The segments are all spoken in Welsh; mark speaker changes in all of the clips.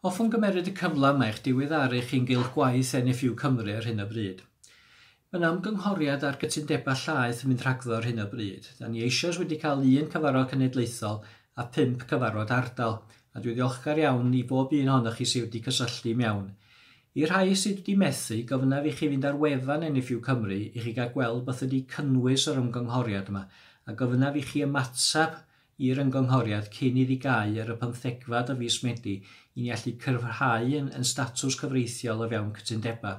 Speaker 1: Hoffwn gymeryd y cyfle yma i'ch diweddaru chi'n gylch gwaith NFU Cymru ar hyn o bryd. Mae yna ymgynghoriad ar gytundebau llaeth yn mynd rhagddo ar hyn o bryd. Da ni eisoes wedi cael un cyfarfod cenedlaethol a 5 cyfarfod ardal, a dwi ddiolchgar iawn i bob un ohonoch chi sydd wedi cysylltu mewn. I'r rhai sydd wedi methu, gofynnaf i chi fynd ar wefan NFU Cymru i chi gael gweld beth ydy cynnwys yr ymgynghoriad yma, a gofynnaf i chi ymateb i'r ymgynghoriad cyn iddi gau ar y pymthegfad o fis Medi i ni allu cryfhau yn, yn statws cyfreithiol o fewn cytundebau.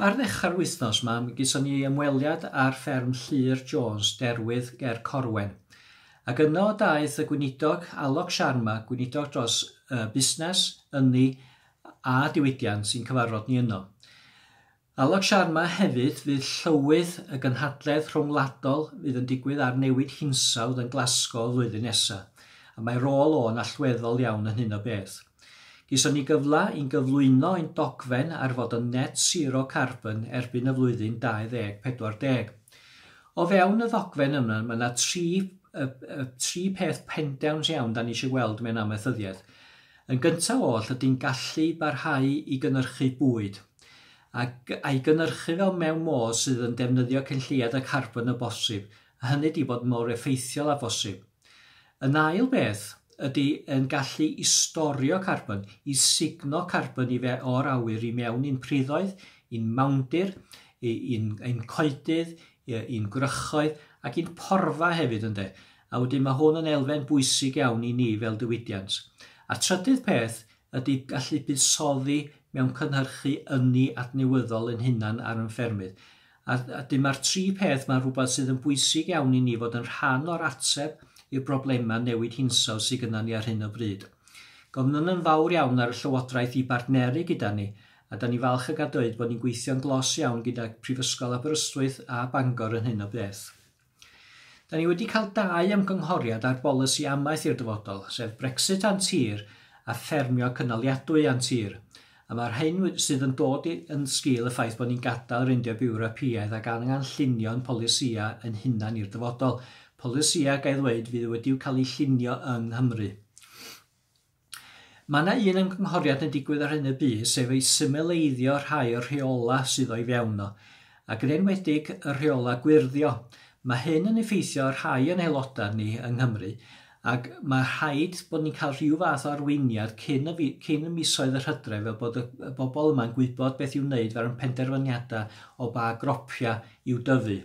Speaker 1: Ar ddechrau'r wythnos yma, mi gyson ni ymweliad ar fferm Llyr Jones, Derwydd ger Corwen. Ac yno daeth y gweinidog Alok Sharma, gweinidog dros busnes, ynni a diwydiant sy'n cyfarfod ni yno. Alok Sharma hefyd fydd llywydd y gynhadledd rhwngwladol fydd yn digwydd ar newid hinsawdd yn Glasgow flwyddyn nesaf, a mae rôl o'n allweddol iawn yn hyn o beth. Gyson ni gyfle i'n gyflwyno ein dogfen ar fod yn net zero carbon erbyn y flwyddyn 2040. O fewn y ddogfen yma, mae yna tri peth pendant iawn da ni eisiau gweld mewn amaethyddiaeth. Yn gyntaf oll, ydy'n gallu barhau i gynhyrchu bwyd ac a'i gynhyrchu fel mewn modd sydd yn defnyddio cynlliad y carbon y bosib, a hynny di bod mor effeithiol â bosib. Yn ail beth ydy yn gallu i storio carbon, i sugno carbon i fe o'r awyr i mewn i'n priddoedd, i'n mawndir, i'n coedydd, i'n gwrychoedd ac i'n porfa hefyd ynde. A wedyn mae hwn yn elfen bwysig iawn i ni fel diwydiant. A trydydd peth ydy gallu buddsoddi mewn cynhyrchu ynni adnewyddol yn hunan ar yn ffermydd. A dyma'r tri peth mae'n rhywbeth sydd yn bwysig iawn i ni fod yn rhan o'r ateb i'r broblemau newid hinsawdd sydd gyda ni ar hyn o bryd. Gofynnwn yn fawr iawn ar y Llywodraeth i bartneru gyda ni, a da ni falch o gael dweud bod ni'n gweithio'n glos iawn gyda Prifysgol Aberystwyth a Bangor yn hyn o beth. Da ni wedi cael 2 ymgynghoriad ar bolisi amaeth i'r dyfodol, sef Brexit a'n tir a ffermio cynaliadwy a'n tir. A mae'r hyn sydd yn dod yn sgil y ffaith bod ni'n gadael yr Undeb Ewropeaidd ac angen llunio'n polisïau yn hunan i'r dyfodol. Polisïau, ga i ddweud, fydd wedi'w cael eu llunio yng Nghymru. Mae yna un ymgynghoriad yn digwydd ar hyn o bryd, sef ei symleiddio rhai o'r rheolau sydd o'i fewn o, ac yn enwedig y rheolau gwyrddio. Mae hyn yn effeithio ar rhai o'n aelodau ni yng Nghymru, ac mae rhaid bod ni'n cael rhyw fath o arweiniad cyn y misoedd yr hydref, fel bod y bobl yma'n gwybod beth i'w wneud fel yn penderfyniadau o ba gropiau i'w dyfu.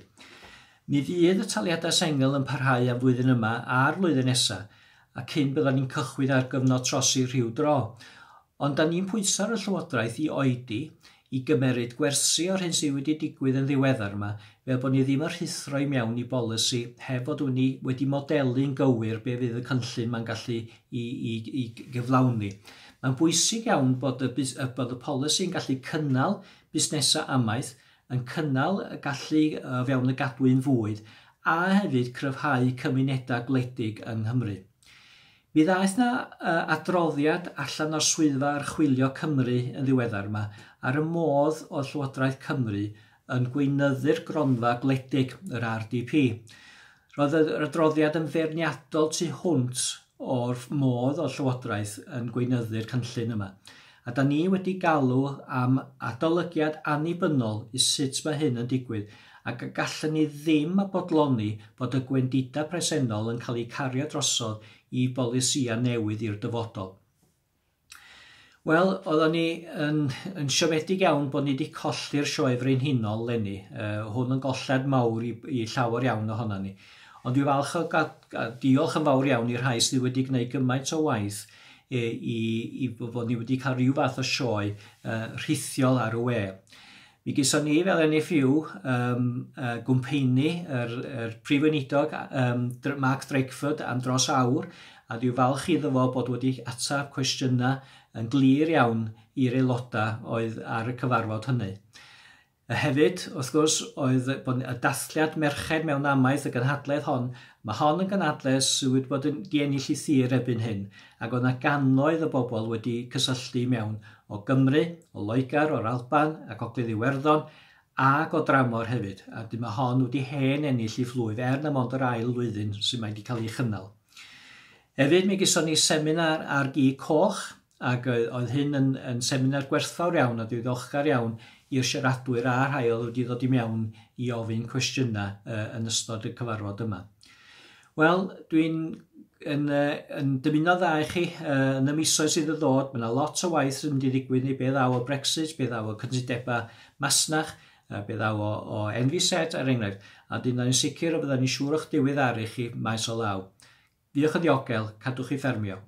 Speaker 1: Mi fydd y taliadau sengl yn parhau am flwyddyn yma a'r flwyddyn nesaf, a cyn byddwn ni'n cychwyn ar gyfnod trosi rhyw dro. Ond da ni'n pwyso ar y Llywodraeth i oedi i gymeryd gwersi o'r hyn sydd wedi digwydd yn ddiweddar yma, fel bod ni ddim yn rhuthro i mewn i bolisi heb fod ni wedi modelu'n gywir be fydd y cynllun mae'n gallu i gyflawni. Mae'n bwysig iawn bod y polisi yn gallu cynnal busnesau amaeth, yn cynnal y gallu fewn y gadwyn fwyd, a hefyd cryfhau cymunedau gwledig yng Nghymru. Mi ddaeth na adroddiad allan o'r Swyddfa Archwilio Cymru yn ddiweddar yma ar y modd oedd Llywodraeth Cymru yn gweinyddu'r gronfa gwledig, yr RDP. Roedd yr adroddiad yn feirniadol tu hwnt o'r modd oedd Llywodraeth yn gweinyddu'r cynllun yma. A da ni wedi galw am adolygiad annibynnol i sut mae hyn yn digwydd, ac gallwn ni ddim a bodloni bod y gwendidau presennol yn cael eu cario drosodd i bolisïau newydd i'r dyfodol. Wel, oedden ni yn siomedig iawn bod ni wedi colli'r sioe frenhinol leni. Hwn yn golled mawr i llawer iawn ohono ni. Ond dwi'n falch o diolch yn fawr iawn i'r rhai sydd wedi gwneud gymaint o waith i fod ni wedi cael rhyw fath o sioe rhithiol ar y we. Mi gyson ni fel NFU gwmpeini yr Prif Weinidog Mark Drakeford am dros awr, a dwi'n falch iddo fo bod wedi ateb cwestiynau yn glir iawn i'r aelodau oedd ar y cyfarfod hynny. A hefyd, wrth gwrs, oedd y dathliad merched mewn amaeth, y gynhadledd hon. Mae hon yn gynhadledd sydd wedi bod yn diennill ei thir erbyn hyn, ac oedd yna gannoedd o bobl wedi cysylltu mewn o Gymru, o Loegr, o'r Alban ac Ogledd Iwerddon, ac o dramor hefyd. A dyma hon wedi hen ennill ei phlwyf, er na mond yr ail flwyddyn sydd mae wedi cael ei chynnal. Hefyd, mi gyson ni seminar ar gi coch Ac oedd hyn yn seminar gwerthfawr iawn a dwi'n ddiolchgar iawn i'r siaradwyr a rhai oedd wedi ddod i mewn i ofyn cwestiynau yn ystod y cyfarfod yma. Wel, dwi'n yn dymuno dda i chi yn y misoedd sydd yn ddod. Mae yna lot o waith sy'n mynd i ddigwydd neu be ddaw o Brexit, be ddaw o cytundebau masnach, be ddaw o NVZ er enghraifft. A dyn ni'n sicr o bydda ni'n siŵr o'ch diweddaru chi maes o law. Diolch yn ddiogel, cadwch chi ffermio.